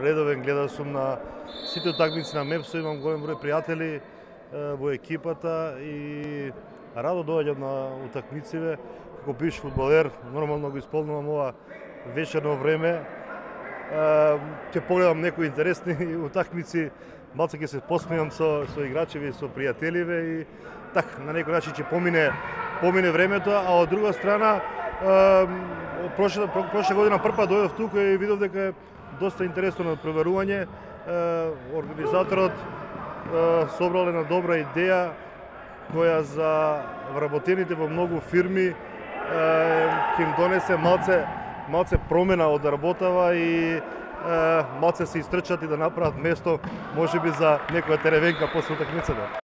редовен гледач сум на сите утакмици на МЕПСО, имам голем број пријатели во екипата и радо доаѓам на утакмициве. Како бивш фудбалер, нормално го исполнувам ова вечерно време. Ќе погледам некои интересни утакмици, малце ќе се посмеам со играчеви, со пријателиве и така на некој начин ќе помине времето, а од друга страна прошла година првпат дојдов тука и видов дека е доста интересно надпреварување. Организаторот собрал една добра идеја која за вработените во многу фирми ќе им донесе малце промена од работава и малце се истрчат и да направат место можеби за некоја теревенка после утакмицата.